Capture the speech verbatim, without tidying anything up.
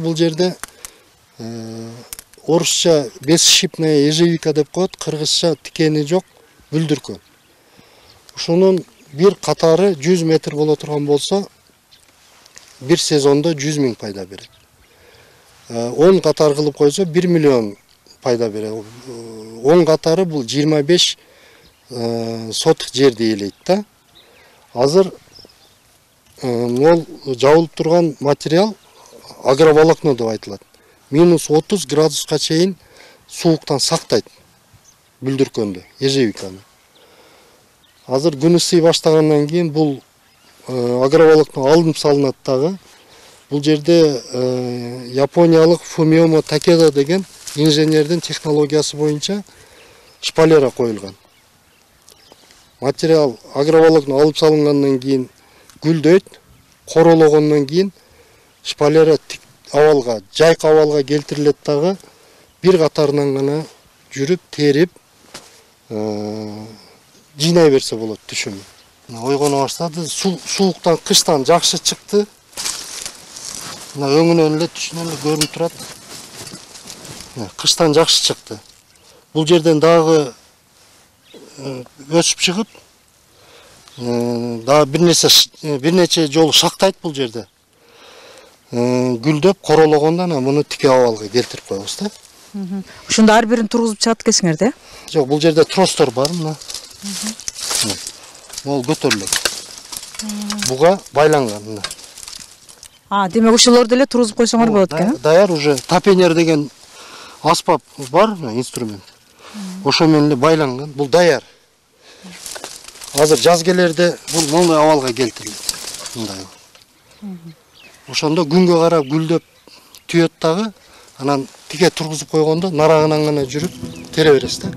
Бул жерде орусча бесшипная ежевика деп коет, кыргызча тикени жок бүлдүркөн. Ушунун бир катары жүз метр боло турган болсо, бир сезондо жүз миң пайда берет. он катар кылып койсо бир миллион пайда берет. он катары бул жыйырма беш соток жерди ээлейт да. Азыр мол жабылып турган материал агроволокно деп айтылат. минус отуз градуска чейин сууктан сактайт бүлдүркөндү, ежевиканы. Азыр күн ысый баштагандан кийин бул агроволокно алынып салынат дагы. Бул жерде япониялык Фумиомо Такеда деген инженердин технологиясы боюнча шпалера коюлган. Материал агроволокно алып салынгандан кийин гүлдөйт, корологондон кийин шпалера абалга, жайкы абалга келтирилет дагы, бир катарынан гана жүрүп, терип, жыйнай берсе болот түшүмү. Ойгоно баштады, сууктан, кыштан жакшы чыкты. Мына өңүнөн эле түшүнөн эле көрүнүп турат. Кыштан жакшы чыкты. Бул жерден дагы өсүп чыгып, дагы бир нерсе бир нече жолу шактайт бул жерде. Гүлдөп, корологондо анан муну тике абалга келтирип коебуз да. Ушунда ар бирин тургузуп чыгат экенсиңер да? Жок, бул жерде тростор бар, мына. Могул көтөрүлөт. Буга байланган мына. А, демек ошолорду эле тургузуп койсоңор болот экен. Даяр уже тапенер деген аспап бар, инструмент. Ошо менен эле байланган. Бул даяр. Азыр жаз келерде бул моундай абалга келтирилет. Мындай. Ошондо күнгө карап гүлдөп түйөт дагы, анан тике тургузуп койгондо нарагынан гана жүрүп тере бересиз да.